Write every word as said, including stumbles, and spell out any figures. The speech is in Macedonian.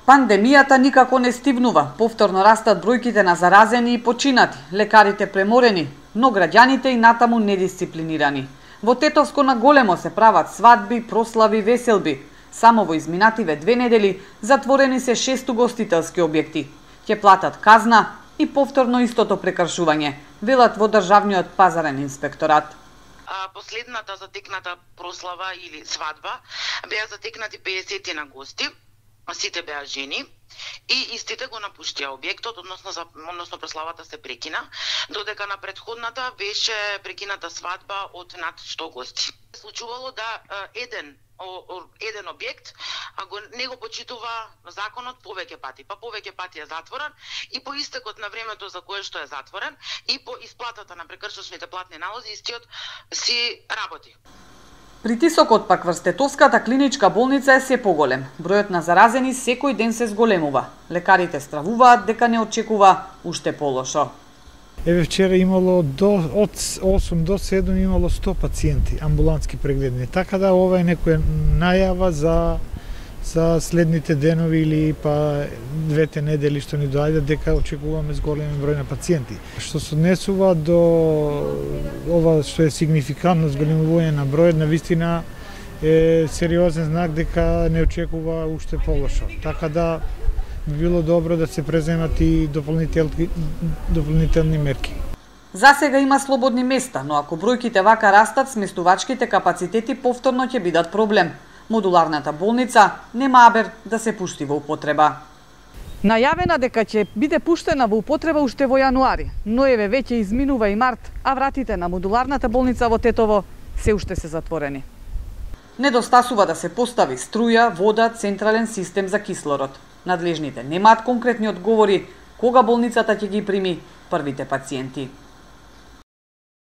Пандемијата никако не стивнува. Повторно растат бројките на заразени и починати, лекарите преморени, но граѓаните и натаму недисциплинирани. Во Тетовско на големо се прават свадби, прослави, веселби. Само во изминативе две недели затворени се шест угостителски објекти. Ќе платат казна и повторно истото прекршување, велат во Државниот пазарен инспекторат. Последната затекната прослава или свадба беа затекнати педесет на гости. Сите беа жени и истите го напуштија објектот, односно за, односно прославата се прекина, додека на претходната беше прекината свадба од над сто гости. Случувало да еден еден објект а го не го почитува законот повеќе пати, па повеќе пати е затворен и по истекот на времето за кое што е затворен и по исплатата на прекршочните платни налози истиот си работи. Притисокот пак врз Тетовската клиничка болница е се поголем. Бројот на заразени секој ден се зголемува. Лекарите стравуваат дека не очекува уште полошо. Еве вчера имало до од осум до седум имало сто пациенти амбулантски прегледни. Така да ова е некоја најава за за следните денови или па двете недели што ни доаѓаат дека очекуваме зголем број на пациенти. Што се однесува до ова што е сигнификантно зголемување на бројот, на вистина е сериозен знак дека не очекува уште полошо. Така да би било добро да се преземат и дополнителни дополнителни мерки. За сега има слободни места, но ако бројките вака растат, сместувачките капацитети повторно ќе бидат проблем. Модуларната болница нема абер да се пушти во употреба. Најавена дека ќе биде пуштена во употреба уште во јануари, но еве веќе изминува и март, а вратите на модуларната болница во Тетово се уште се затворени. Недостасува да се постави струја, вода, централен систем за кислород. Надлежните немаат конкретни одговори кога болницата ќе ги прими првите пациенти.